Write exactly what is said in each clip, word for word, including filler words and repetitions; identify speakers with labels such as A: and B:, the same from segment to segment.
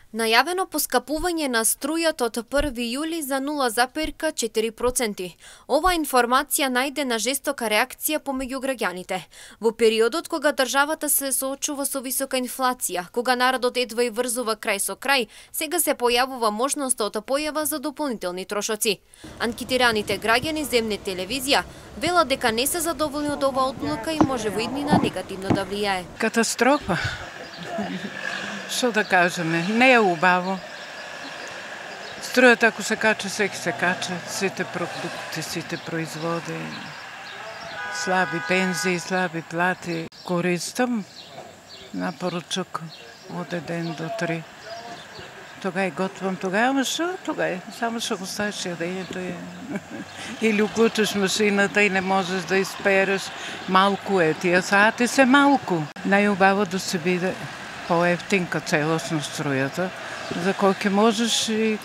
A: Најавено поскапување на струјата од први јули за нула зарез четири проценти. Ова информација најде на жестока реакција помеѓу граѓаните. Во периодот кога државата се соочува со висока инфлација, кога народот едва и врзува крај со крај, сега се појавува можноста од појава за дополнителни трошоци. Анкетираните граѓани земне телевизија велат дека не се задоволни од оваа одлука и може во иднина негативно да влијае.
B: Катастрофа. Што да кажеме, не е убаво. Струјата ако се кача, секи се кача, сите продукти, сите производи, слаби пензии, слаби плати. Користам на поручок од еден до три. Тога и готвам, тога ама што? Тога е, само што го ставиш јадењето е. Или уклучиш машината и не можеш да испереш. Малку е, тие сати се малку. Најубаво да се биде поевтинка целосно струјата, за кој ќе можеш и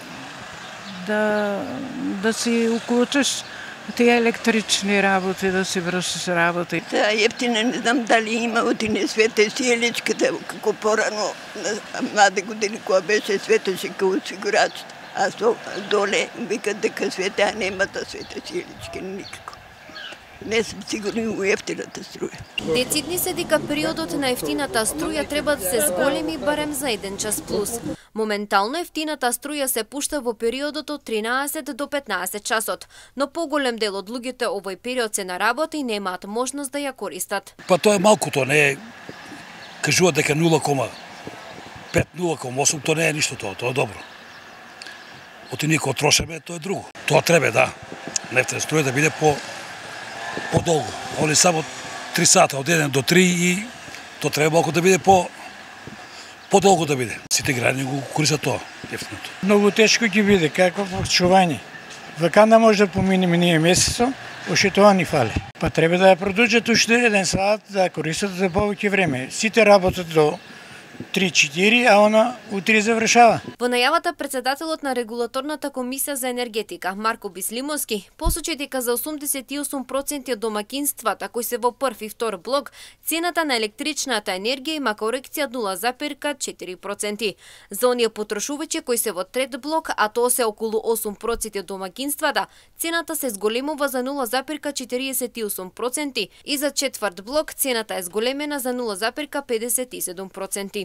B: да, да си уклучиш тие електрични работи, да си вршиш работи.
C: Таа ефтина не знам дали има одине Свете Сијеличката, како порано, млади години која беше светеше као осигурачот, а со доле викат дека Свете, а немата Свете Сијеличка никако. Не сум сигурни у ефтината струја.
A: Децидни се дека периодот на ефтината струја треба да се зголеми барем за еден час плюс. Моментално ефтината струја се пушта во периодот од тринаесет до петнаесет часот, но поголем дел од луѓето овој период се на работа и немаат можност да ја користат.
D: Па тоа е малку, тоа не е, кажуваат дека нула кома пет, нула кома осум, тоа не е ништо тоа, тоа е добро. Оти ние кога трошеме, тоа е друго. Тоа треба, да, нефтена струја да биде по подолго. Они само три сата, од еден до три и тоа треба малку да биде по подолго да биде. Сите граѓани го користат тоа, ефтиното.
E: Многу тешко ќе биде, како почување. Ваканда може да поминеме ние месецо, уште тоа ни фали. Па треба да ја продолжат уште еден сат, да користат за повеќе време. Сите работат до три-четири, а она утре завршава.
A: Во најавата претседателот на регулаторната комисија за енергетика Марко Бислимовски посочи дека за осумдесет и осум проценти од домакинствата кои се во прв и втор блок, цената на електричната енергија има корекција нула зарез четири проценти. За оние потрошувачи кои се во трет блок, а тоа се околу осум проценти од домакинствата, цената се зголемува за нула зарез четириесет и осум проценти и за четврт блок цената е зголемена за нула зарез педесет и седум проценти.